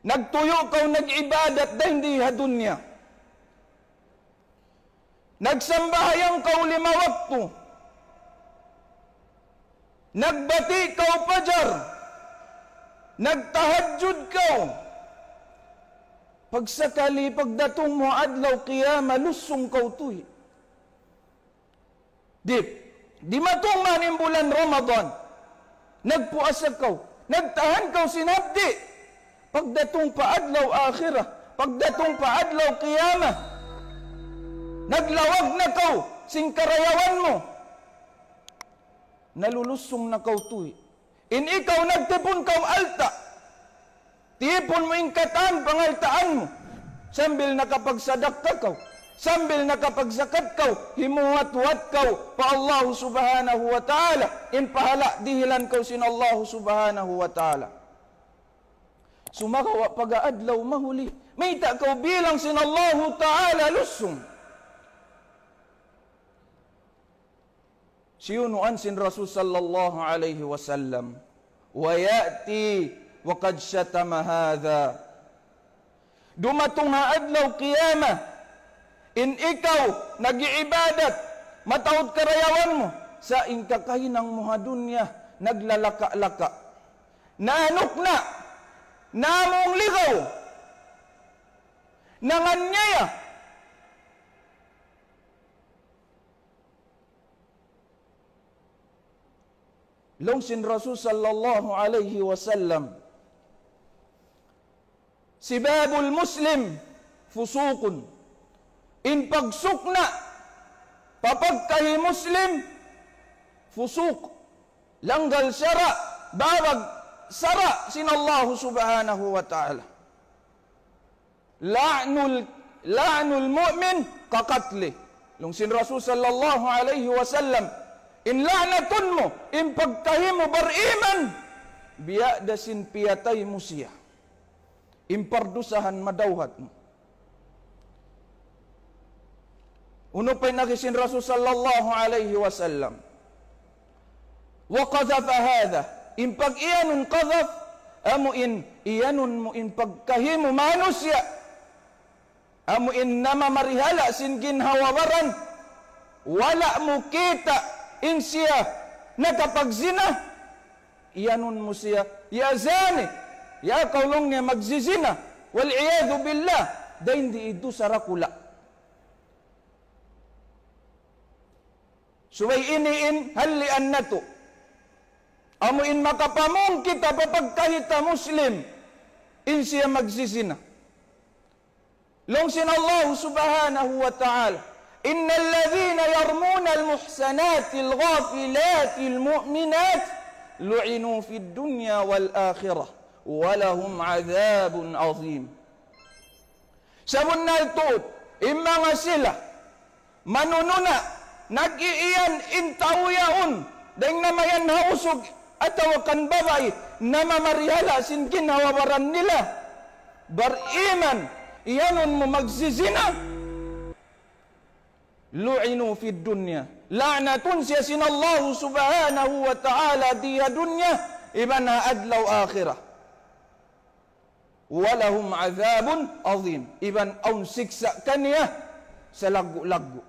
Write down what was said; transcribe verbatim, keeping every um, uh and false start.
Nagtuyu' kaw nag-ibadat dayn di ha dunya. Nagsambahayang kaw lima waktu. Nagbati' kaw pajar. Nagtahajjud kaw. Pagsakali pagdatung mu adlaw qiyamah, lusung kaw tuhi. Di', dimatung man in bulan Ramadan, nagpuasa kaw, nagtahan kaw sin hapdi'. Pagdatung pa adlaw akhirat, pagdatung pa adlaw qiyamah, naglawag na kaw sin karayawan mu. Nalulusung na kaw tuhi. In ikaw nagtipun kaw alta'. Tipun mu in katan pangaltaan mu. Sambil nakapagsadakka kaw. Sambil nakapagzakat kaw. Himuwat-huwat kaw pa Allah Subhanahu wa Ta'ala. In pahala' dihilan kaw sin Allah Subhanahu wa Ta'ala. Sumagawa' pag-adlaw mahuli, mayta' kaw bilang sin Allah Ta'ala lusung. Siyunuan sin Rasul sallallahu alayhi wasallam, ويأتي وقد شتم هذا. Dumatung ha adlaw qiyamah, in ikaw nag-iibadat, mataud karayawan mu, sa' in kakahinang mu ha dunya, naglalaka-laka. Naanuk na, namung ligaw, nanganyaya. Laung sin Rasul sallallahu alayhi wasallam, سباب المسلم فسوق. In pagsukna' pa pagkahi Muslim, fusuq. Langgal sara', bawag sara' sin Allah Subhanahu wa Ta'ala. لعن ال-، لعن المؤمن كقتله. Laung sin Rasul sallallahu alayhi wasallam, in la'natun mu, in pagkahi mu bariman, biya' da sin piyatay mu siya. In pardusahan madawhat mu. Unu pa in agi sin Rasul sallallahu alayhi wasallam? وقذف هذا. In pag-iyanun qadhaf, amu in iyanun mu in pagkahi mu manusiya'. Amu in namamarihala' sin ginhawa-baran. Wala' mu kita' in siya nakapagzina. Iyanun mu siya, "Ya zani, ya kaw laung niya magzizina." والعياذ بالله, dayn di dusa dakula'. Subay ini in hallian natu'. Amu in makapamung kita pa pagkahi ta Muslim, in siya magzizina. Laung sin Allah Subhanahu wa Ta'ala, إن الذين يرمون المحصنات الغافلات المؤمنات لعنوا في الدنيا والآخرة ولهم عذاب عظيم. Sabunnal tuud, in manga sila, manununa', nag-iiyan in tau yaun, dayng namayan ha usug, atawa kan babai, namamarihala' sin ginhawa-baran nila. Bariman, iyanun mu magzizina. لعنوا في الدنيا. La'natun siya sin Allah subhanahu wa ta'ala di ha dunya, iban ha adlaw akhirat. ولهم عذاب عظيم. Iban awn siksa' kaniya salaggu'-laggu'.